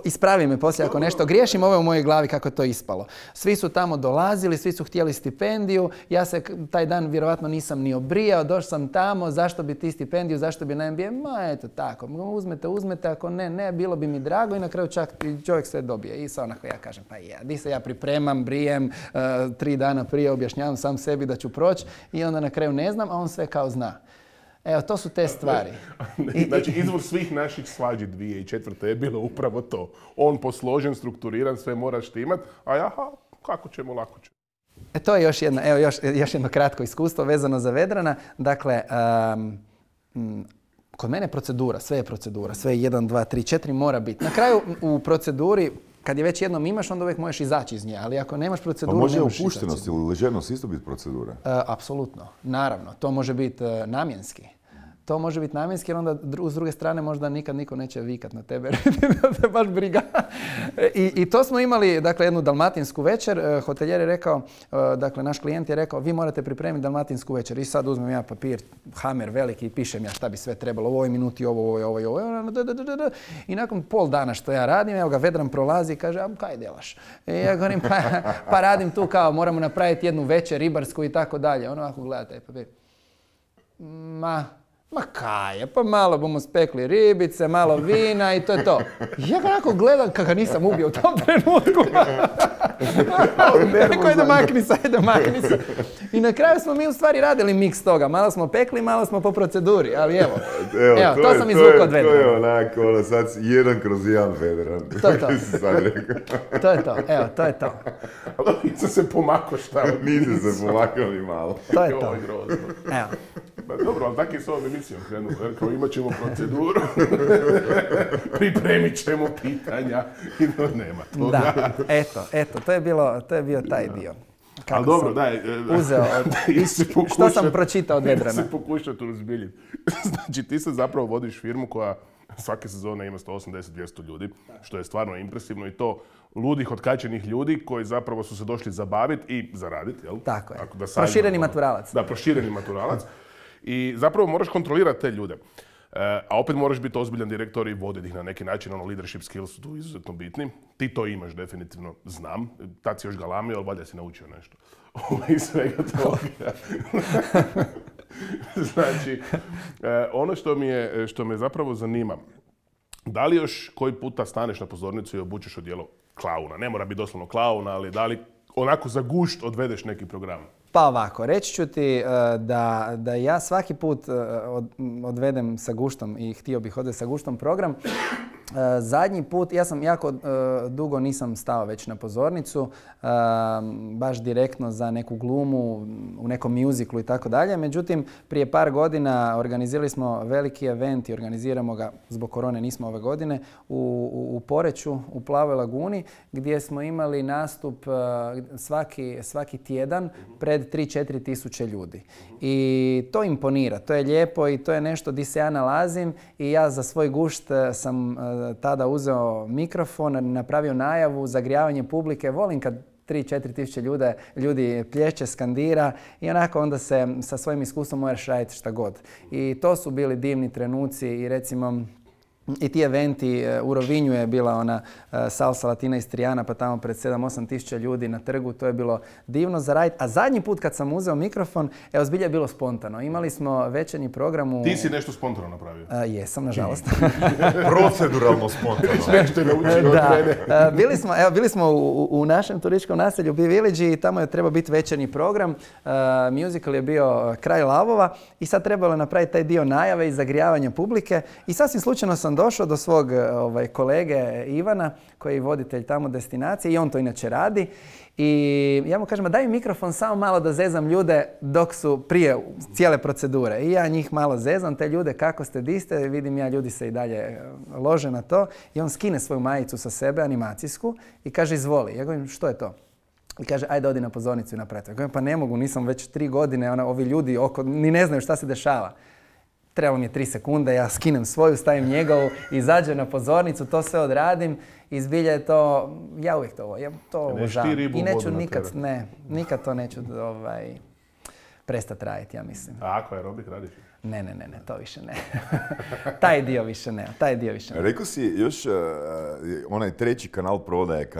ispravi me poslije ako nešto griješim, ovo je u mojoj glavi kako je to ispalo. Svi su tamo dolazili, svi su htjeli stipendiju, ja se taj dan vjerovatno nisam ni obrijao, došao sam tamo, zašto bi ti stipendiju, zašto bi na MBA, ma eto tako, uzmete, ako ne, bilo bi mi drago i na kraju čak čovjek sve dobije. I sad onako ja kažem, pa di se ja pripremam, brijem, 3 dana prije objašnjavam sam sebi da ću proći i onda na kraju ne znam, a on sve kao zna. Evo, to su te stvari. Znači, izvor svih naših svađi 2004. je bilo upravo to. On posložen, strukturiran, sve moraš ti imat, a jaha, kako ćemo, lako ćemo. To je još jedno kratko iskustvo vezano za Vedrana. Dakle, kod mene procedura, sve je procedura, sve je 1, 2, 3, 4 mora biti. Na kraju u proceduri, kad je već jednom imaš, onda uvijek možeš izaći iz nje, ali ako nemaš proceduru, može nemaš opuštenost ili ležernost isto biti procedura? Apsolutno, naravno. To može biti namjenski. To može biti namjenski jer onda s druge strane možda nikad niko neće vikat na tebe, da te baš briga. I to smo imali, dakle, jednu dalmatinsku večer. Hoteljer je rekao, dakle, naš klijent je rekao, vi morate pripremiti dalmatinsku večer. I sad uzmem ja papir, hamer veliki i pišem ja šta bi sve trebalo. U ovoj minuti ovo. I nakon pol dana što ja radim, evo ga Vedran prolazi i kaže, a kaj delaš? I ja govorim, pa radim tu kao, moramo napraviti jednu večer ribarsku i tako dalje. Ono ako gleda taj papir. Ma kaj je, pa malo bomo spekli ribice, malo vina i to je to. Ja ga onako gledam kako nisam ubio u tom trenutku. Rekao, ajde makni se. I na kraju smo mi u stvari radili miks toga. Malo smo pekli, malo smo po proceduri, ali evo to sam izvukao od Vedrana. To je onako, sad 1/1 Vedran. To je to. To je to, evo, to je to. Ali nisam se pomakao šta? Nisam se pomakao ni malo. To je to. Evo. Dobro, ali tako je s ovom emisijom krenuo. Kao imat ćemo proceduru, pripremit ćemo pitanja i nema toga. Da, eto, to je bio taj dio. Ali dobro, daj. Uzeo, što sam pročitao od Vedrana. Ja se pokušao tu uzbiljiti. Znači, ti se zapravo vodiš firmu koja svake sezone ima 180-200 ljudi, što je stvarno impresivno i to ludih, otkačenih ljudi koji zapravo su se došli zabaviti i zaraditi, jel? Tako je. Da Prošireni maturalac. Da, prošireni maturalac. I zapravo moraš kontrolirati te ljude. A opet moraš biti ozbiljan direktor i voditi ih na neki način, leadership skills su tu izuzetno bitni. Ti to imaš definitivno, znam. Tad si još galamio, ali valjda si naučio nešto. Iz svega toga. Znači, ono što me zapravo zanima, da li još koji puta staneš na pozornicu i obučeš odijelo klauna? Ne mora biti doslovno klauna, ali da li onako za gušt odvedeš neki program? Pa ovako, reći ću ti da ja svaki put odvedem sa guštom i htio bih odvesti sa guštom program. Zadnji put, ja sam jako dugo nisam stao već na pozornicu, baš direktno za neku glumu, u nekom mjuziklu i tako dalje. Međutim, prije par godina organizirali smo veliki event i organiziramo ga, zbog korone nismo ove godine, u Poreču, u Plavoj laguni, gdje smo imali nastup svaki tjedan pred 3-4 tisuće ljudi. I to imponira, to je lijepo i to je nešto di se ja nalazim i ja za svoj gušt sam tada uzeo mikrofon, napravio najavu, zagrijavanje publike. Volim kad 3-4 tisuće ljudi plješće, skandira i onako onda se sa svojim iskustvom možeš raditi šta god. I to su bili divni trenuci i recimo i ti eventi, u Rovinju je bila ona salsa latina istrijana, pa tamo pred 7-8 tisuća ljudi na trgu, to je bilo divno za raditi. A zadnji put kad sam uzeo mikrofon, evo zbilja je bilo spontano. Imali smo večernji program u... Ti si nešto spontano napravio? Jesam, nažalost. Proceduralno spontano. Nešto je naučio od mene. Bili smo u našem turističkom naselju Bee Village i tamo je trebao biti večernji program. Musical je bio Kraj lavova i sad trebalo je napraviti taj dio najave i zagrijavanja publike. I sasvim slučajno sam došao do svog kolege Ivana, koji je voditelj tamo destinacije i on to inače radi. I ja mu kažem, daj mi mikrofon samo malo da zezam ljude dok su prije cijele procedure. I ja njih malo zezam, te ljude kako ste, di ste, vidim ja ljudi se i dalje lože na to. I on skine svoju majicu sa sebe, animacijsku, i kaže izvoli. Ja govorim, što je to? I kaže, ajde odi na pozornicu i napravi. Ja govorim, pa ne mogu, nisam već 3 godine, ovi ljudi oko, ni ne znaju šta se dešava. Trebalo mi je 3 sekunde, ja skinem svoju, stavim njegovu, izađem na pozornicu, to sve odradim i zbilja je to, ja uvijek to obožavam. I neću nikad to neću prestati raditi, ja mislim. A ako aerobik radiš? Ne, to više ne. Taj dio više ne. Rekao si još onaj treći kanal prodaje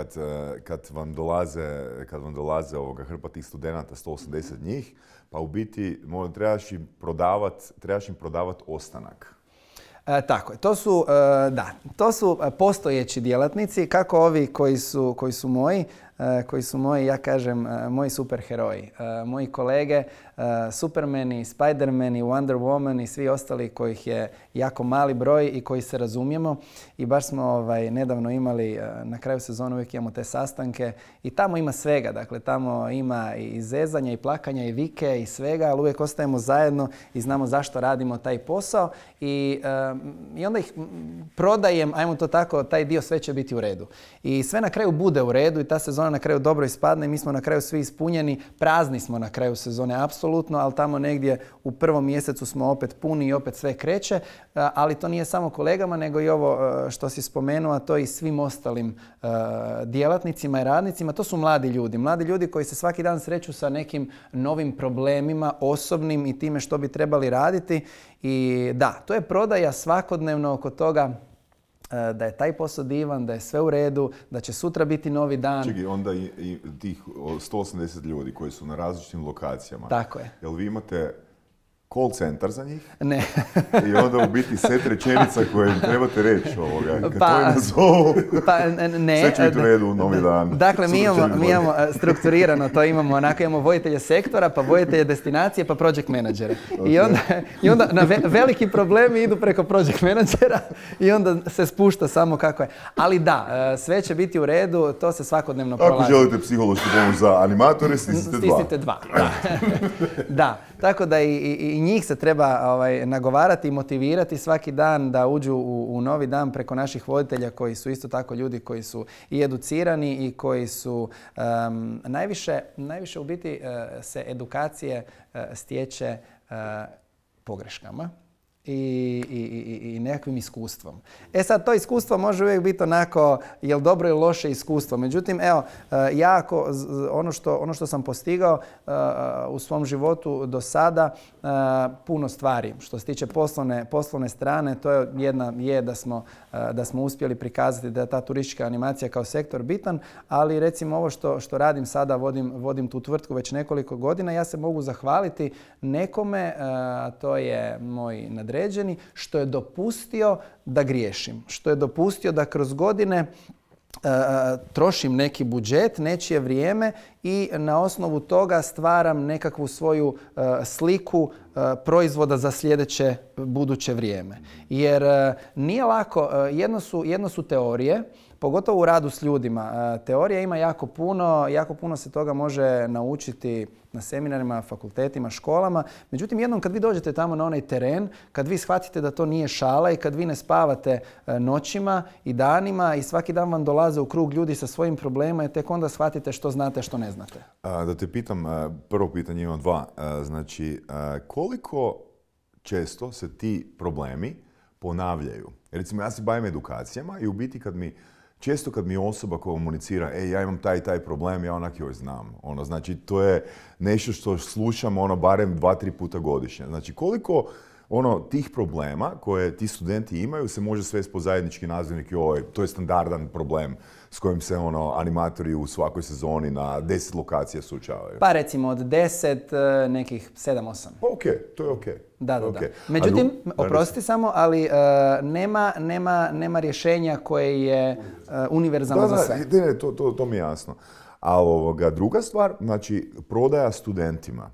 kad vam dolaze hrpa tih studenata, 180 njih, pa u biti trebaš im prodavat ostanak. Tako je. To su postojeći djelatnici, kako ovi koji su moji, ja kažem, moji superheroji. Moji kolege, Supermani, Spidermani, Wonder Woman i svi ostali kojih je jako mali broj i koji se razumijemo. I baš smo nedavno imali, na kraju sezona uvijek imamo te sastanke i tamo ima svega. Dakle, tamo ima i zezanja i plakanja i vike i svega, ali uvijek ostajemo zajedno i znamo zašto radimo taj posao. I onda ih prodajem, ajmo to tako, taj dio sve će biti u redu. I sve na kraju bude u redu i ta sezona na kraju dobro ispadne i mi smo na kraju svi ispunjeni. Prazni smo na kraju sezone, apsolutno, ali tamo negdje u 1. mjesecu smo opet puni i opet sve kreće. Ali to nije samo kolegama, nego i ovo što si spomenuo, a to i svim ostalim djelatnicima i radnicima. To su mladi ljudi. Mladi ljudi koji se svaki dan sreću sa nekim novim problemima, osobnim i time što bi trebali raditi. I da, to je prodaja svakodnevno oko toga da je taj posao divan, da je sve u redu, da će sutra biti novi dan. Čekaj, onda i tih 180 ljudi koji su na različitim lokacijama. Tako je. Jel vi imate call centar za njih? Ne. I onda u biti set rečenica koje im trebate reći kad to im nazovu, ne. sve će biti u redu u novi dan. Dakle, mi imamo strukturirano to, imamo voditelje sektora, pa voditelje destinacije, pa project menadžere. Okay. I onda na veliki problemi idu preko project menadžera i onda se spušta samo kako je. Ali da, sve će biti u redu, to se svakodnevno prolazi. Ako želite psihološku pomoć za animatore, stisnite 2. Da, tako da i njih se treba nagovarati i motivirati svaki dan da uđu u novi dan preko naših voditelja koji su isto tako ljudi koji su i educirani i koji su najviše u biti se edukacije stječe pogreškama i nekakvim iskustvom. E sad, to iskustvo može uvijek biti onako, je li dobro ili loše iskustvo. Međutim, evo, ono što sam postigao u svom životu do sada, puno stvari. Što se tiče poslovne strane, to je da smo uspjeli prikazati da je ta turistička animacija kao sektor bitan, ali recimo ovo što radim sada, vodim tu tvrtku već nekoliko godina, ja se mogu zahvaliti nekome, to je moj nadređeni, što je dopustio da griješim, što je dopustio da kroz godine trošim neki budžet, nečije vrijeme i na osnovu toga stvaram nekakvu svoju sliku proizvoda za sljedeće buduće vrijeme. Jer nije lako, jedno su teorije, pogotovo u radu s ljudima. Teorija ima jako puno se toga može naučiti na seminarima, fakultetima, školama. Međutim, jednom kad vi dođete tamo na onaj teren, kad vi shvatite da to nije šala i kad vi ne spavate noćima i danima i svaki dan vam dolaze u krug ljudi sa svojim problemima i tek onda shvatite što znate, što ne znate. Da te pitam, prvo pitanje imam dva. Znači, koliko često se ti problemi ponavljaju? Recimo, ja se bavim edukacijama i u biti često kad mi osoba komunicira, ja imam taj problem, ja onak joj znam. Znači, to je nešto što slušam barem 2-3 puta godišnje. Znači, koliko tih problema koje ti studenti imaju se može svesti po zajednički nazivnik, to je standardan problem s kojim se animatori u svakoj sezoni na 10 lokacija suočavaju. Pa recimo od 10, nekih 7-8. Pa to je okej. Da. Međutim, oprosti samo, ali nema rješenja koje je univerzalno za sve. Ne, to mi je jasno. Ali druga stvar, znači prodaja studentima.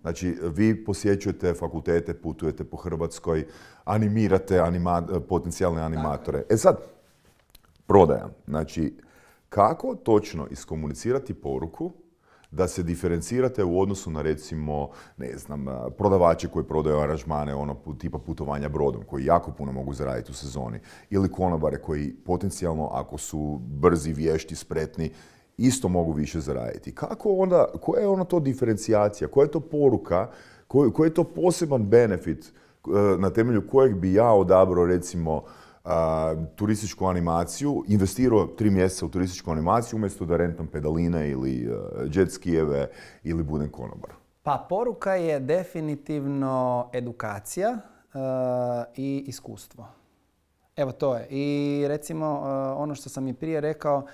Znači, vi posjećujete fakultete, putujete po Hrvatskoj, animirate potencijalne animatore. E sad, prodaja. Znači, kako točno iskomunicirati poruku da se diferencirate u odnosu na, recimo, prodavače koji prodaju aranžmane, tipa putovanja brodom, koji jako puno mogu zaraditi u sezoni, ili konobare koji potencijalno, ako su brzi, vješti, spretni, isto mogu više zaraditi. Koja je to diferencijacija? Koja je to poruka? Koji je to poseban benefit na temelju kojeg bi ja odabrao, recimo, turističku animaciju, investirao 3 mjeseca u turističku animaciju umjesto da rentam pedaline ili jet skijeve ili budem konobar? Pa poruka je definitivno edukacija i iskustvo. Evo to je. I recimo ono što sam i prije rekao,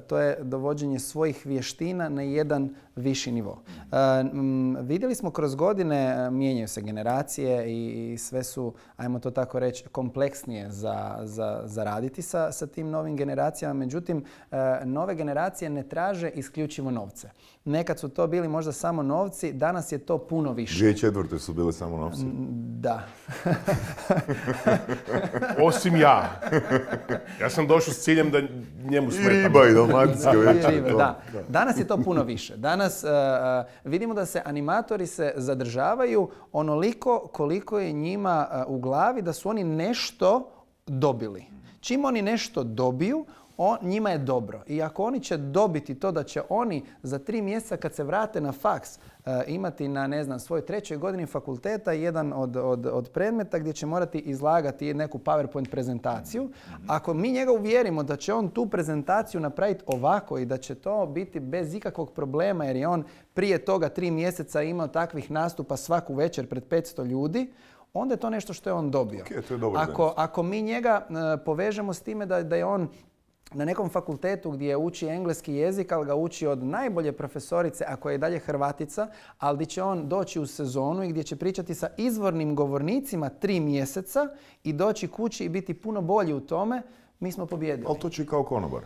to je dovođenje svojih vještina na jedan viši nivo. Vidjeli smo kroz godine, mijenjaju se generacije i sve su, ajmo to tako reći, kompleksnije za raditi sa tim novim generacijama. Međutim, nove generacije ne traže isključivo novce. Nekad su to bili možda samo novci, danas je to puno više. 2004. su bili samo novci? Da. Osim ja. Ja sam došao s ciljem da njemu smetam. I riba i dalmatinska večer. Da. Danas je to puno više. Danas vidimo da se animatori se zadržavaju onoliko koliko je njima u glavi da su oni nešto dobili. Čim oni nešto dobiju, njima je dobro. I ako oni će dobiti to da će oni za 3 mjeseca kad se vrate na faks imati na svojoj 3. godini fakulteta jedan od predmeta gdje će morati izlagati neku PowerPoint prezentaciju. Ako mi njega uvjerimo da će on tu prezentaciju napraviti ovako i da će to biti bez ikakvog problema jer je on prije toga 3 mjeseca imao takvih nastupa svaku večer pred 500 ljudi, onda je to nešto što je on dobio. Okay, to je dobro. Ako mi njega povežemo s time da je on na nekom fakultetu gdje uči engleski jezik, ali ga uči od najbolje profesorice, ako je i dalje Hrvatica, ali gdje će on doći u sezonu i gdje će pričati sa izvornim govornicima 3 mjeseca i doći kući i biti puno bolji u tome, mi smo pobijedili. Ali to će kao konobar.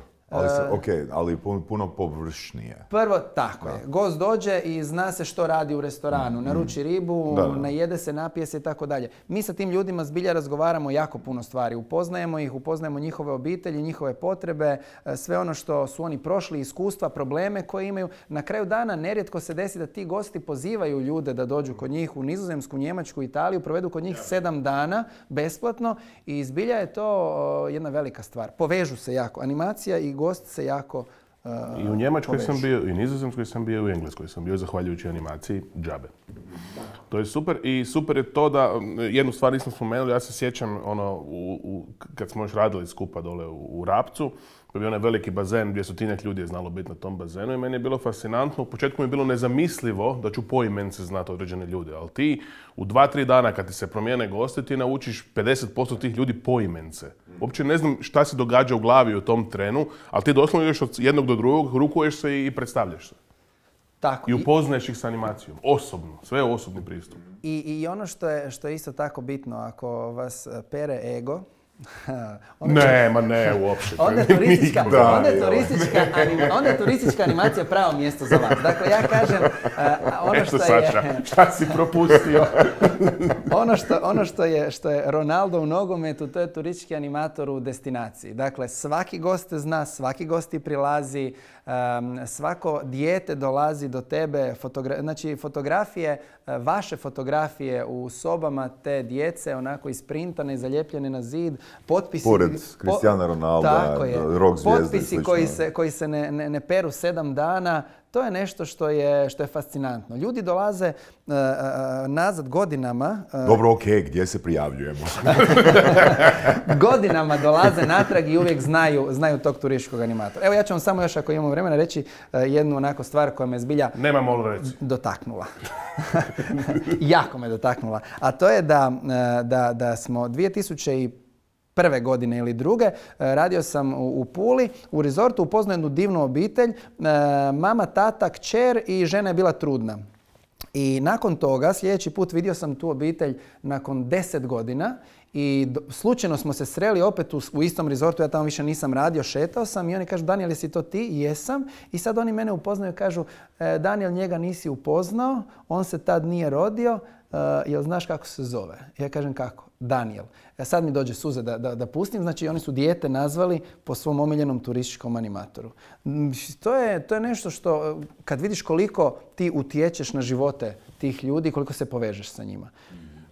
Ali puno površnije. Prvo, tako je. Gost dođe i zna se što radi u restoranu. Naruči ribu, najede se, napije se i tako dalje. Mi sa tim ljudima zbilja razgovaramo jako puno stvari. Upoznajemo ih, upoznajemo njihove obitelji, njihove potrebe, sve ono što su oni prošli, iskustva, probleme koje imaju. Na kraju dana nerijetko se desi da ti gosti pozivaju ljude da dođu kod njih u Nizozemsku, Njemačku, Italiju, provedu kod njih 7 dana besplatno i zbilja je to jedna velika stvar. Povežu se jako. Animacija i gost se jako I u Njemačkoj sam bio, i Nizozemskoj sam bio, i u Engleskoj sam bio, zahvaljujući animaciji džabe. To je super i super je to da, jednu stvar nismo spomenuli, ja se sjećam kad smo još radili skupa dole u Rapcu, to je bio onaj veliki bazen, 200 ljudi je znalo biti na tom bazenu i meni je bilo fascinantno. U početku mi je bilo nezamislivo da ću poimence znati određene ljude, ali ti u 2-3 dana kad ti se promijene gosti, ti naučiš 50% tih ljudi poimence. Uopće ne znam šta se događa u glavi u tom trenu, ali ti doslovno ideš od jednog do drugog, rukuješ se i predstavljaš se. Tako. I upoznaješ ih s animacijom, osobno, sve je osobni pristup. I ono što je isto tako bitno, ako vas pere ego, ne, uopće. Onda je turistička animacija pravo mjesto za vas. Dakle, ja kažem, ono što je... Saša, šta si propustio? ono što je Ronaldo u nogometu, to je turistički animator u destinaciji. Dakle, svaki gost te zna, svaki gost ti prilazi, svako dijete dolazi do tebe, znači fotografije, vaše fotografije u sobama te djece, onako isprintane i zaljepljene na zid, potpisi... Pored Cristiana Ronalda, rock zvijezde. Potpisi koji se ne peru 7 dana, to je nešto što je fascinantno. Ljudi dolaze nazad godinama... Dobro, okej, gdje se prijavljujemo? Godinama dolaze natrag i uvijek znaju tog turističkog animatora. Evo ja ću vam samo još, ako imamo vremena, reći jednu onako stvar koja me zbilja dotaknula. Jako me dotaknula. A to je da smo 2001. godine ili druge, radio sam u Puli, u rezortu, upoznao jednu divnu obitelj, mama, tata, kćer i žena je bila trudna. I nakon toga, sljedeći put vidio sam tu obitelj nakon 10 godina i slučajno smo se sreli opet u istom rezortu, ja tamo više nisam radio, šetao sam i oni kažu, Daniel, jesi to ti? Jesam. I sad oni mene upoznaju i kažu, Daniel, njega nisi upoznao, on se tad nije rodio, jel znaš kako se zove? Ja kažem kako? Daniel. Sad mi dođe suza da pustim, znači oni su dijete nazvali po svom omiljenom turističkom animatoru. To je nešto što, kad vidiš koliko ti utječeš na živote tih ljudi, koliko se povežeš sa njima.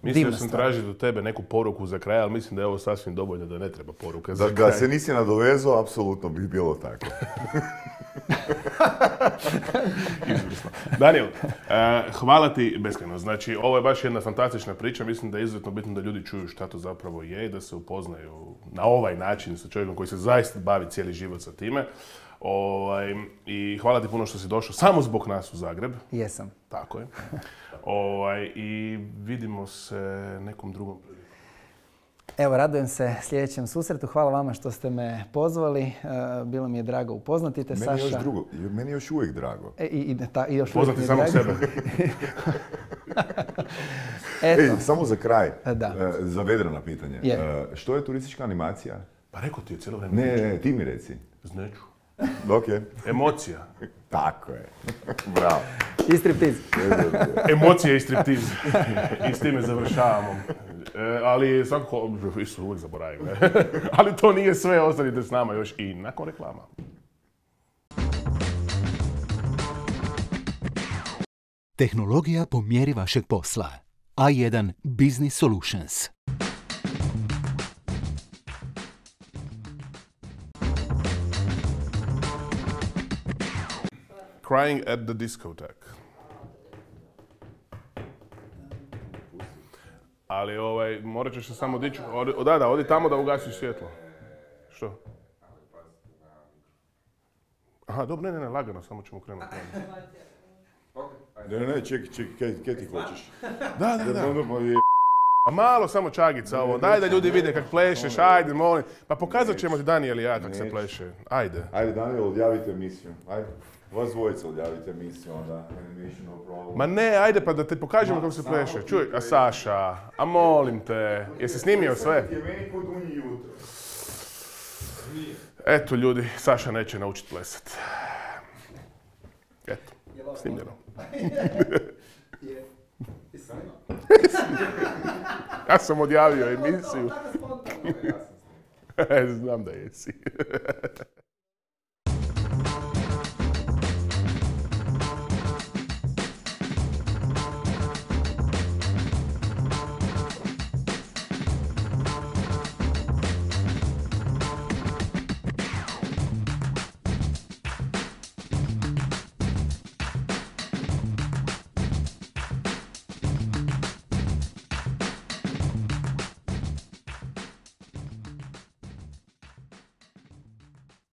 Mislio sam tražiti od tebe neku poruku za kraj, ali mislim da je ovo sasvim dovoljno da ne treba poruka za kraj. Da se nisi nadovezao, apsolutno bi bilo tako. Daniel, hvala ti beskrajno. Znači, ovo je baš jedna fantastična priča. Mislim da je izuzetno bitno da ljudi čuju šta to zapravo je i da se upoznaju na ovaj način sa čovjekom koji se zaista bavi cijeli život sa time. I hvala ti puno što si došao samo zbog nas u Zagreb. Jesam. Tako je. I vidimo se nekom drugom prilikom. Evo, radujem se sljedećem susretu. Hvala vama što ste me pozvali. Bilo mi je drago upoznati te, Saša. Meni je još uvijek drago. Poznati samo sebe. Samo za kraj, za vedrana pitanje. Što je turistička animacija? Pa rekao ti je cijelo vrijeme. Ne, ti mi reci. Neću. Okay. Emocija. Tako je. Bravo. I striptiz. Emocija i striptiz. I s time završavamo. Ali svakako, isto uvijek zaboravim. Ali to nije sve, ostanite s nama još i nakon reklama. Tehnologija po mjeri vašeg posla. A1 Business Solutions. Crying at the discotheque. Ali morat ćeš se samo dići. Odi tamo da ugasiš svjetlo. Što? Aha, dobro, ne, lagano, samo ćemo krenuti. Ne, čekaj, kaj ti hoćeš? Da. A malo samo čagica ovo, daj da ljudi vide kak plešeš, ajde, molim. Pa pokazat ćemo ti Daniel i ja kak se pleše, ajde. Ajde, Daniel, odjavite emisiju, ajde. Vas dvojica odjavite emisiju, onda animation no problem. Ma ne, ajde pa da te pokažemo kako se pleše. Čuj, a Saša, a molim te, jesi snimio sve? Eto ljudi, Saša neće naučiti plesat. Eto, snimljeno. Ja sam odjavio emisiju. Znam da jesi.